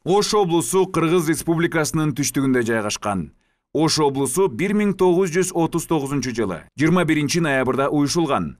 Ош облусу Кыргыз Республикасынын түштүгүндө жайгашкан. Ош облусу 1939 жылы 21 ноябрда уюшулган.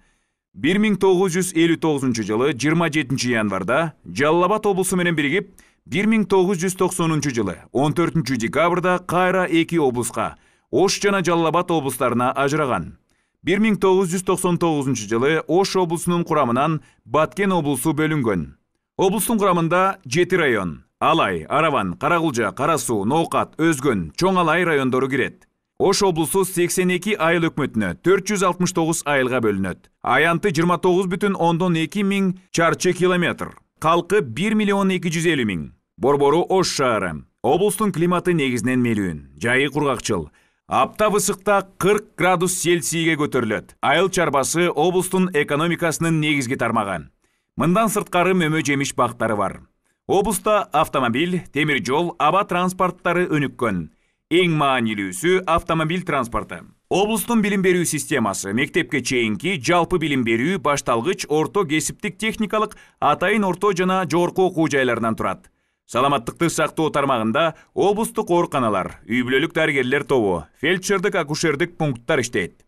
1959 жылы 27 январда Жалал Абад облусу менен биригип, 1990 жылы 14 декабрда кайра эки облуска, Ош жана Жалал Абад облустарына ажыраган. 1999 жылы Ош облусунун курамынан Баткен облусу бөлүнгөн. Облустун курамында 7 район: Алай, Араван, Карагулжа, Кара Суу, Ноокат, Өзгөн, Чоң Алай райондору кирет. Ош облусу 82 айыл өкмөтүнө 469 айылга бөлүнөт. Аянты 29,2 миң чарчы километр. Калкы 1 миллион 250 миң. Борбору Ош шаары. Облустун климаты негизинен мелүүн, жайы кургакчыл. Аптап ысыкта 40 градус Цельсийге көтөрүлөт. Айыл чарбасы облустун экономикасынын негизги тармагы. Мындан сырткары мөмө жемиш бактары бар. Облуста автомобиль, темир жол, аба транспорттары өнүккөн. Эң маанилүүсү автомобиль транспорту. Облустун билим берүү системасы мектепке чейинки жалпы билим берүү башталгыч, орто, кесиптик, техникалык, атайын орто жана жогорку окуу жайларынан турат. Саламаттыкты сактоо тармагында облустук ооруканалар, үй-бүлөлүк дарыгерлер тобу, фельдшердик, акушердик пункттар иштейт.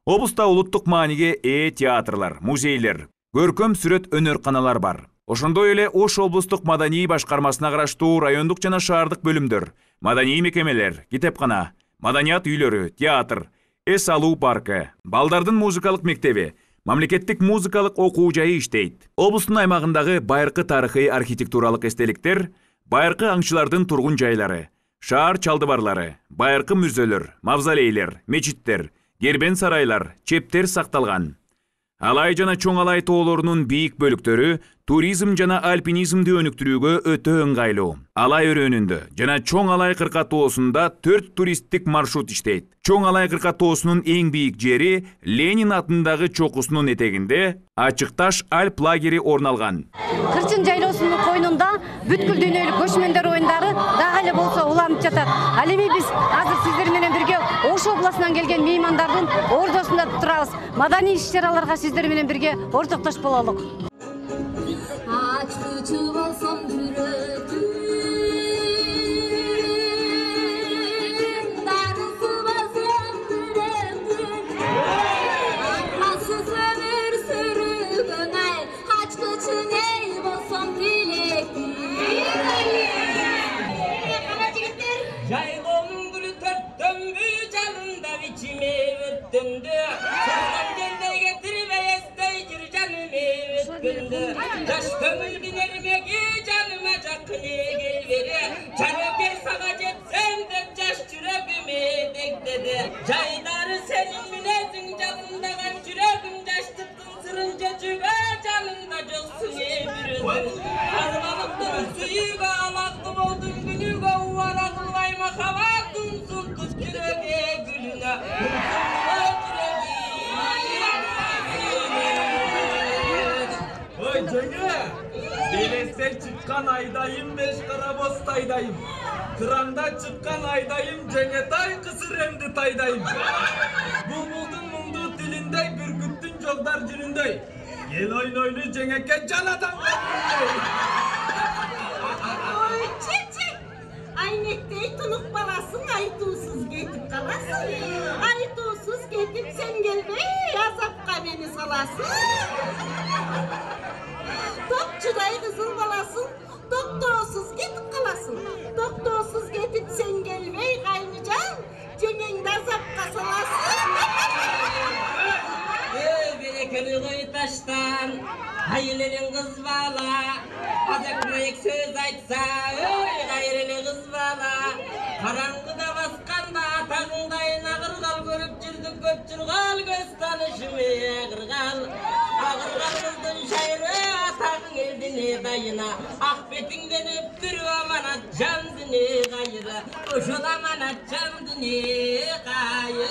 Облуста улуттук мааниге ээ театрлар, музейлер, көркөм сүрөт өнөрканалар бар. Ошондой эле Ош облустук маданий башкармасына караштуу райондук жана шаардык бөлүмдөр, маданий мекемелер, китепкана, маданият үйлөрү, театр, эс алуу паркы, балдардын музыкалык мектеби, мамлекеттик музыкалык окуу жайы иштейт. Облустун аймагындагы байыркы тарыхый архитектуралык эстеликтер, байыркы аңчылардын тургун жайлары, шаар чалдыбарлары, байыркы мүзөлөр, мавзолейлер, мечиттер, кербен сарайлар, чептер сакталган. Алай жана Чоң Алай тоолорунун бийик бөлүктөрү туризм жана альпинизмди өнүктүрүүгө өтө ыңгайлуу. Алай өрөөнүндө жана Чоң Алай кыркатоосунда 4 туристтик маршрут иштейт. Чоң Алай кыркатоосунун эң бийик жери Ленин атындагы чокусунун этегинде Ачык таш Альп лагери орун алган. Кырчын жайлоосунун койнунда бүткүл дүйнөлүк көчмөндөр оюндары дагы эле болсо уланып жатат. Ал эми биз азыр сиздер менен бирге Ош облусунан келген меймандардын ордосунда турабыз. Маданий иш-чараларга сиздер менен бирге ортоктош бололук. Жайлоонун гүлү төрттөмбү жанында бичиме өттүндү. Чыккан жердей кетирбей эстей жүр жаным өткөндү. Жаш көңүл бинермеги жаныма жакын келбери. Жанекей сага жетсем деп жаш жүрөгүмө дегдеди. Жайдары сенин мүнөзүң жалындаган жүрөгүм жаштыктын сырын жечүүгө жанымда жоксуң бирөөсүң. Армандын сүйүүгө алакты болдуң күнүгө убара кылбай махаббаттын султук жүрөгү гүлүнө. Ой жеңе, белесе чыккан айдайым беш кара бостайдайым. Кыранда чыккан айдайым жеңетай кысыремди тайдайым. Булбулдун муңду тилиндей, бүркүттүн жолдар жүрүндөй. Ел ойнойлу жеңеке жанадан. Ой чечи, айнектей тунук баласың, айтуусуз кетип каласың. Айтуусуз кетип сен келбей, азапка мени саласың. Топчудай кызыл баласың, токтоосуз кетип каласың. Токтоосуз кетип сен келбей, кайныжан, жеңеңди азапка саласың. Берекели кой таштан, айылерин кыз бала, азак-маек сөз айтса, ой кайреле кыз бала. Караңгыда басканда атагың кайын агыргал, көрүп жүрдүк көп жыргал, көз таанышым агыргал. Агыргал кыздын шайры атагың элдине дайына, ак бетиңден өптүрүп аманат жандыне кайры, ошол аманат жандыне кайры.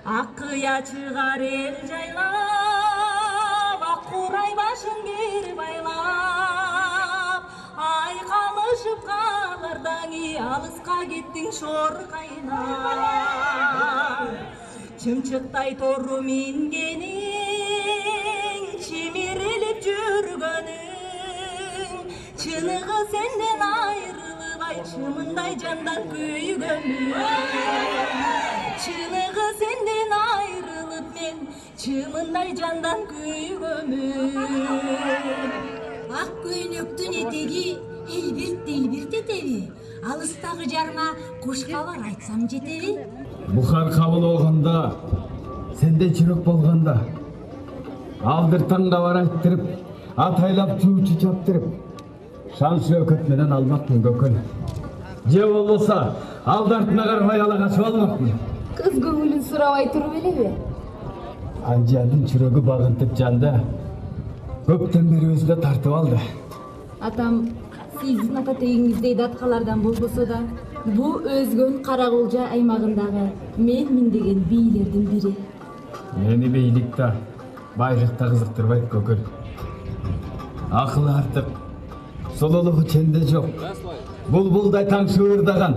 Акыя чыгар эл жайлап, ак курай башын кер байлап, айкалышып калырдаңы алыска кеттиң шор кайнап. Чымчыктай тору мингениң, чимирилип жүргөнүң, чыныгы сенден айрылып айтчы мындай жандар күйгөнмүн. Чыныгы сенден айрылып мен чымындай жандан күйгөнмүн. Ак көйнөктүн этеги элбирт этеби. Алыстагы жарма куш кабар айтсам жетеби. Бухар кабыл болгондо, сенде чүрөк болгондо, алдыртанга бар айттырып, атайлап чуучу чаптырып, шан шөкөт менен алмакмын көкөл. Же болбосо, алды артына карабай ала качып алмакмын. Кыз көңүлүн сурабай туруп элеби? Анжандын чүрөгү багынтып жанды. Көптөн бери өзүнө тартып алды. Атам сиздин ата тегиңиздей даткалардан болбосо да, бул өзгөн Каракулжа аймагындагы менмин деген бийлердин бири. Мени бийлик да, байлык да кызыктырбайт көкөл. Акылы артык, сулуулугу ченде жок. Булбулдай таң шуурдаган.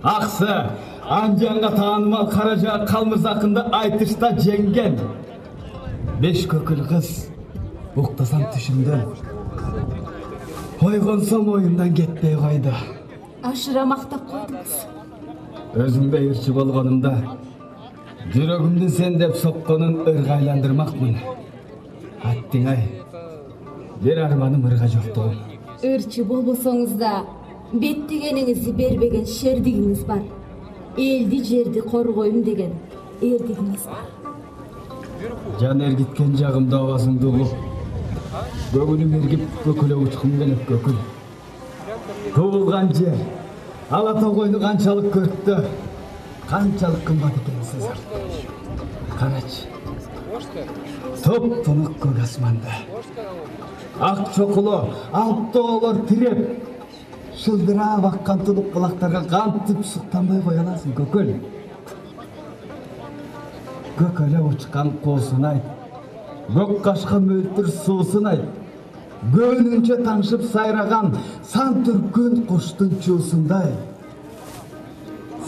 Аксы, Анжанга таанымал Каража Калмырзакынды айтышта жеңген. 5 көкөл кыз, уктасам түшүмдөн. Ойгонсом оюмдан кетпей койду. Ашыра мактап койдуңуз. Өзүмгө ырчы болгонумда, жүрөгүмдүн сен деп сокконун ыргайландырмакмын. Аттиң-ай, бир арманым ырга жоктугум. Ырчы болбосоңуз да, беттегениңизди бербеген шердигиңиз бар. Элди жерди коргойм деген эрдигиңиз бар. Жан эргиткен жагымда абасыңды угуп, көңүлүм эргип көкөлө учкум келет көкөл. Туулган жер, ала тогойну канчалык көрктө, канчалык кымбат экенин сезем. Карачы, топ-тонук көк асманда, ак чокуло, алып тоолор тиреп, шылдырап аккан тулук булактарга кантип суктанбай кое аласың көкөл? Көкөлө учкан куусун айт, көк кашка мөлтүр суусун айт, көөнүнчө таңшып сайраган сан түркүн куштун чуусундай.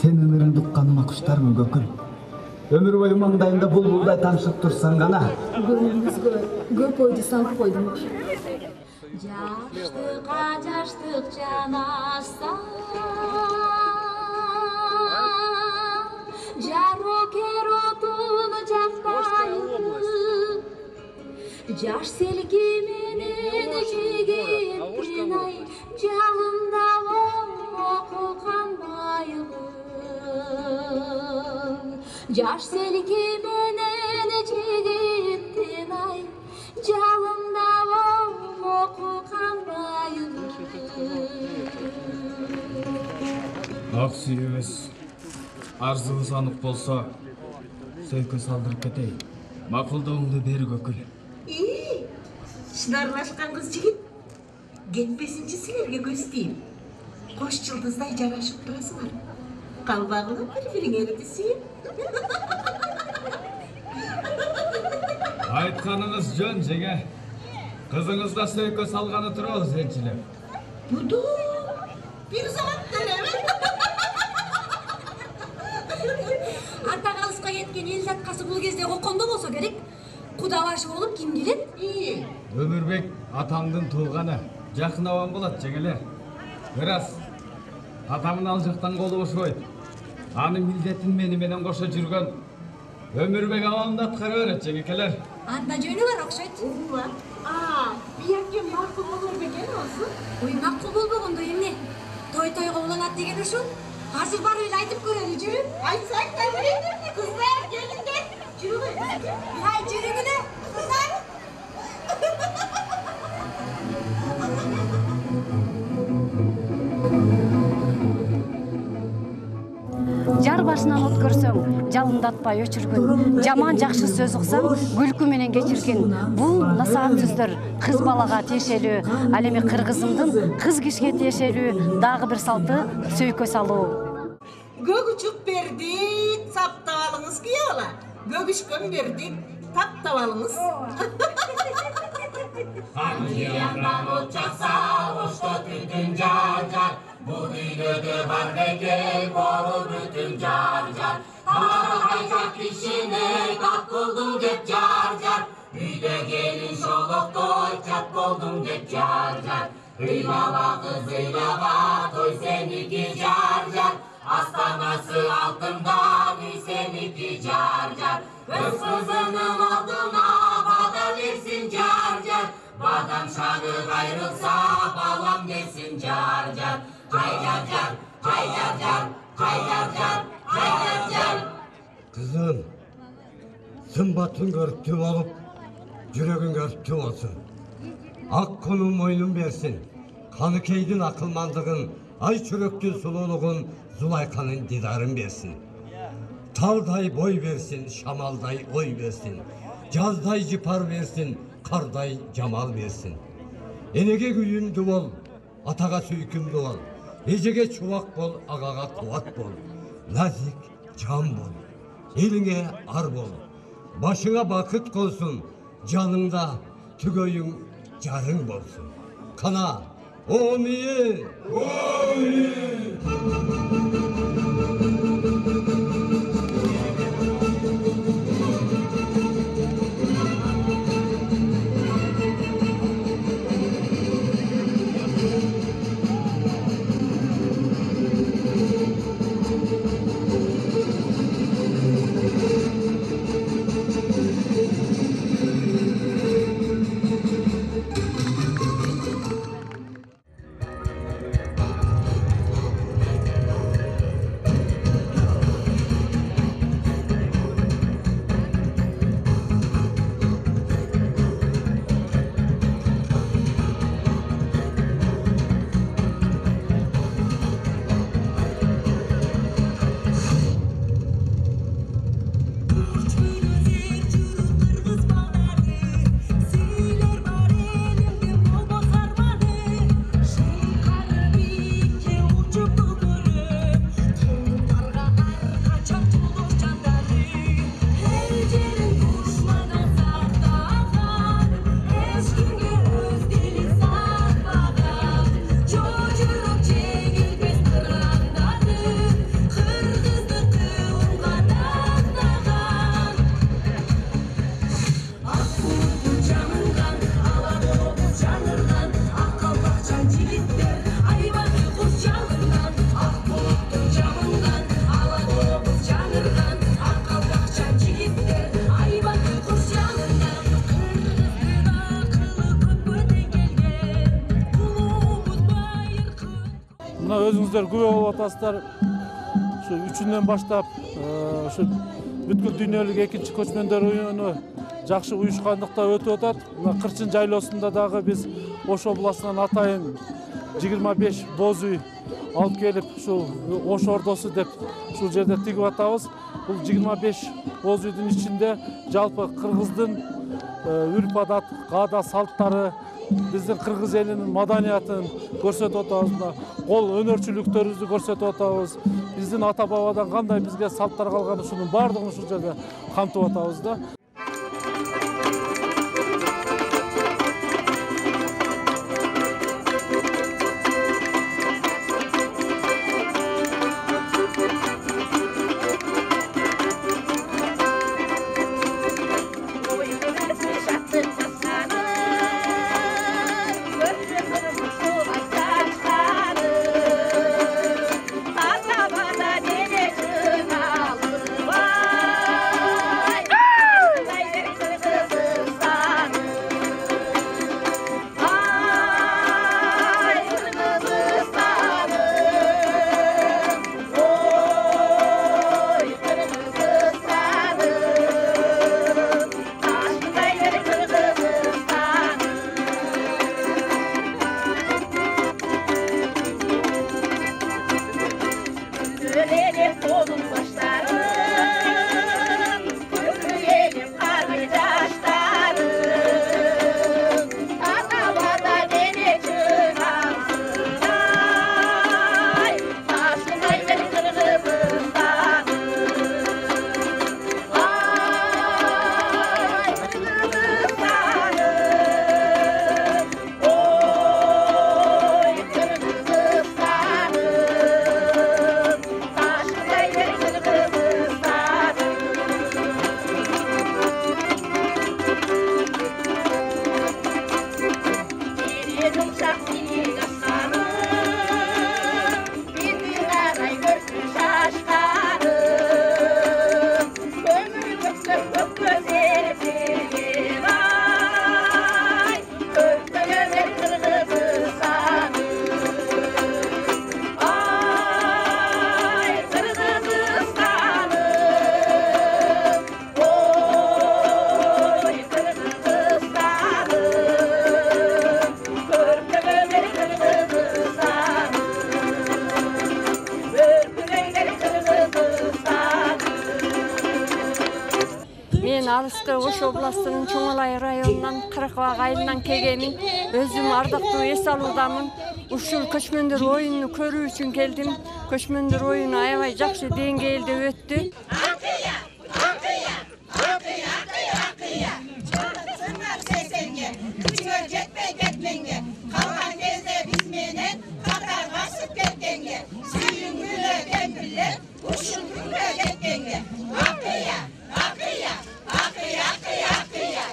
Сен өмүрүңдү укканыма куштармын көкөл. Өмүр бою маңдайымда булбулдай таңшып турсаң гана. Көңүлүңүзгө көп ойду салып койдум. Жаштык жанашса, жарокер отун жакпайбы. Жаш селки менен жигиттин ай, жалында оку канбайбы. Жаш селки менен жигиттин ай, жалында оку канбайбы. Ак сүйүүбүз, арзыбыз анык болсо, сөйкө салдырып кетейин. Макулдооңду бер көкөл. Шынарлашкан кыз жигит. Кетпесинчи силерге көз тийин. Кош жылдыздай жарашып турасыңар. Калбагыла бири-бириңерди сүйүп. Айтканыңыз жөн, жеге. Кызыңыз да сөйкө салганы турабыз энчилеп. Буду бир заматта эле. Арта калыска кеткен эл заткасы бул кезде кокондо болсо керек. Куда башы болуп ким келет? Өмүрбек атаңдын тууганы, жакын абам болот жеңелер. Ырас, атамын ал жактан колу бошобойт. Анын милдетин мени менен кошо жүргөн Өмүрбек абамды аткара берет жеңекелер. Анда жөнү бар окшойт. Бияке макул болор бекен болсун. Ой, макул болбогондо эмне? Той-тойго уланат деген ушул. Азыр барып эле айтып көрөлү, жүрү. Айтсак да берет. Кыздар келиңдер. Жүрүңүз. Ай, жүрүңүлө, кыздар. Жар башынан өткөрсөң, жалындатпай өчүргүн. Жаман жакшы сөз уксаң, күлкү менен кечиргин. Бул насаат сөздөр кыз балага тиешелүү. Ал эми кыргызымдын кыз кишиге тиешелүү дагы бир салты сөйкө салуу. Көк учуп бердик, саптап алыңыз күйө бала. Көгүшкөн бердик, таптап алыңыз. Анжияндан от чакса, ошто түтүн жар-жар. Бул дүйнөдө бар бекер, болу бүтүн жар-жар. Кайжа кишине тап кылдым деп жар-жар. Үйдө келин шолоктой чат болдум деп жар-жар. ыйлаба кыз ыйлаба, той сеники жар жар, астанасы алтындан үй сеники жар жар. Өз кызынын алдына бада берсин жар жар, бадам шаңы кайрылса балам десин жар жар. Жай жар жар, жай жар жар, жай жар жар, жай жар жар. Кызым, сымбатын көрүктүү болуп, жүрөгүң өрттүү болсун. Ак конун мойнун берсин, Каныкейдин акылмандыгын, ай чүрөктүн сулуулугун, Зулайканын дидарын берсин. Талдай бой берсин, шамалдай ой берсин, жаздай жыпар берсин, кардай жамал берсин. Энеге күйүмдүү бол, атага сүйкүмдүү бол, эжеге чубак бол, агага кубат бол, назик жан бол, элиңе ар бол, башыңа бакыт колсун, жаныңда түгөйүң жарың болсун. Кана, омие! Өзүңүздөр күбө болуп атасыздар. Ушу 3-үндөн баштап ушу бүткүл дүйнөлүк экинчи көчмөндөр оюну жакшы уюшкандыкта өтүп атат. Мына Кырчын жайлоосунда дагы биз Ош областынан атайын 25 боз үй алып келип, ушул Ош ордосу деп ушул жерде тигип атабыз. Бул 25 боз үйдүн ичинде жалпы кыргыздын үрп адат, каада салттары, биздин кыргыз элинин маданиятын көрсөтүп атабыз. Кол өнөрчүлүктөрүбүздү көрсөтүп атабыз. Биздин ата бабадан кандай бизге салттар калган, ушунун баардыгын ушул жерде камтып атабыз да. алыскы Ош областынын Чоң Алай районунан Кырыкбак айылынан келгенмин. Өзүм ардактуу эс алуудамын. Ушул көчмөндөр оюнун көрүү үчүн келдим. Көчмөндөр оюну аябай жакшы деңгээлде өттү. Kalkan gezde biz menen Katar basıp ketkenge Suyun gülü kempiller Uşun gülü ketkenge Akıya, akıya, akıya, akıya, akıya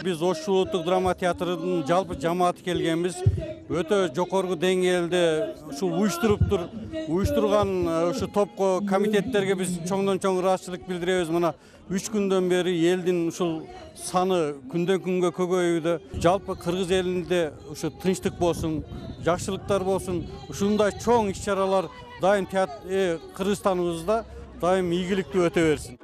Biz Ош улуттук драма театрынын жалпы жамааты келгенбиз. Өтө жокорку деңгээлде ушул уюштурган ушу топко, комитеттерге биз чоңдон чоң ыраазычылык билдиребиз. Мына 3 күндөн бери элдин ушул саны күндөн күнгө көбөйүүдө. Жалпы Кыргыз элинде ушу тынчтык болсун, жакшылыктар болсун, ушундай чоң иш-чаралар дайым Кыргызстаныбызда дайым ийгиликтүү өтө берсин.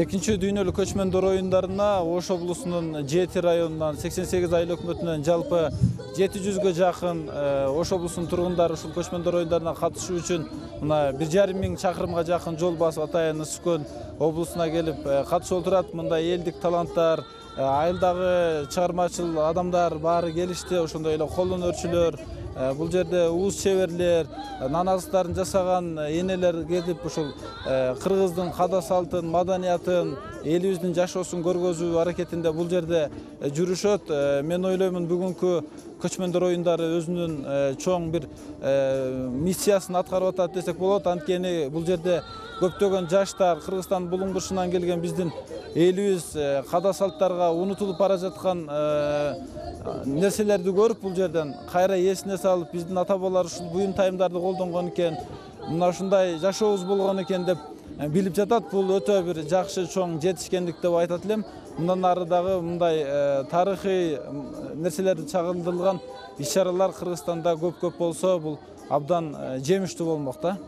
Экинчи дүйнөлүк көчмөндөр оюндарына Ош облусунун Жети районунан 88 айыл өкмөтүнөн жалпы 700гө жакын Ош облусунун тургундары ушул көчмөндөр оюндарына катышуу үчүн мына 1,5 миң чакырымга жакын жол басып Атайын Ысык Көл облусуна келип катышып отурат. Мында элдик таланттар, айылдагы чыгармачыл адамдар баары келишти. Ошондой эле кол өнөрчүлөр, бул жерде уус чеберлер, наназыктарын жасаган энелер келип ушул кыргыздын када салтын, маданиятын, элибиздин жашоосун көргөзүү аракетинде бул жерде жүрүшөт. Мен ойлоймун бүгүнкү көчмөндөр оюндары өзүнүн чоң бир миссиясын аткарып атат десек болот. Анткени бул жерде көптөгөн жаштар Кыргызстан булуңдушунан келген биздин элибиз када салттарга унутулуп бара жаткан нерселерди көрүп бул жерден кайра эсине салып, биздин ата бабалар ушул буюм тайымдарды колдонгон экен, мына ушундай жашообуз болгон экен деп билип жатат. Бул өтө бир жакшы чоң жетишкендик деп айтат элем. Мындан ары дагы мындай тарыхый нерселерди чагылдырылган иш-чаралар Кыргызстанда көп болсо, бул абдан жемиштүү болмок да.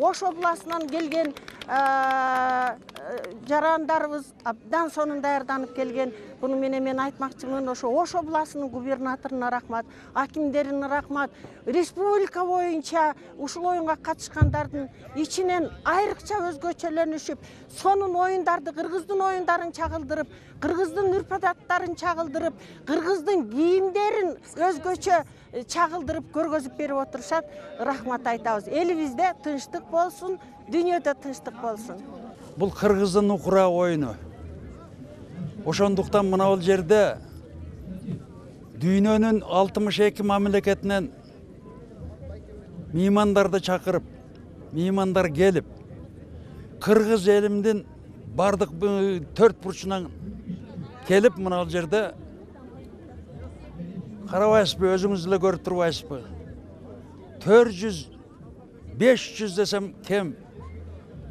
Ош областынан келген жарандарыбыз абдан сонун даярданып келген. Буну менен мен айтмакчымын, ошо Ош областынын губернаторуна рахмат, акимдерине рахмат, республика боюнча ушул оюнга катышкандардын ичинен айрыкча өзгөчөлөнүшүп, сонун оюндарды, кыргыздын оюндарын чагылдырып, кыргыздын үрп-адаттарын чагылдырып, кыргыздын кийимдерин өзгөчө чагылдырып көргөзүп берип отурушат. Рахмат айтабыз. Элибизде тынчтык болсун, дүйнөдө тынчтык болсун. Бул кыргыздын укура оюну. Ошондуктан мына бул жерде дүйнөнүн 62 мамлекетинен меймандарды чакырып, меймандар келип, кыргыз элимдин бардык 4 бурчунан келип мына бул жерде карабайсызбы, өзүңүз эле көрүп турбайсызбы? 400, 500 десем кем,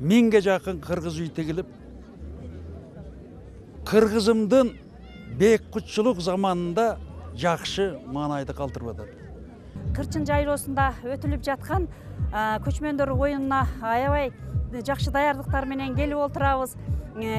1000ге жакын кыргыз үй тигилип, кыргызымдын бейкутчулук заманында жакшы маанайды калтырып атат. Кырчын жайлоосунда өтүлүп жаткан көчмөндөр оюнуна аябай жакшы даярдыктар менен келип отурабыз.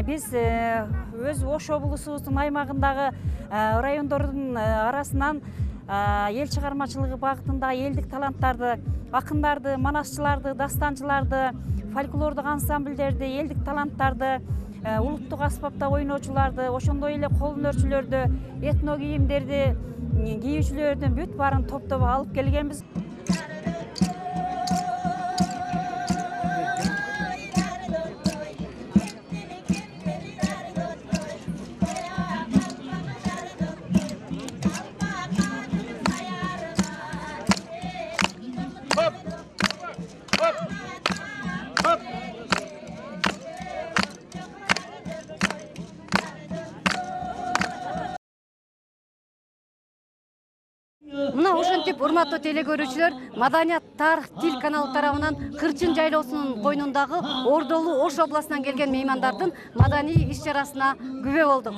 Биз өз Ош облусубуздун аймагындагы райондордун арасынан эл чыгармачылыгы багытында элдик таланттарды, акындарды, манасчыларды, дастанчыларды, фольклордук ансамбльдерди, элдик таланттарды, улуттук аспапта ойноочуларды, ошондой эле кол өнөрчүлөрдү, этно кийимдерди кийүүчүлөрдүн бүт баарын топтоп алып келгенбиз. Мына ошентип урматтуу теле көрүүчүлөр, Маданият, тарых, тил каналы тарабынан Кырчын жайлоосунун койнундагы Ордолуу Ош областынан келген меймандардын маданий иш-чарасына күбө болдук.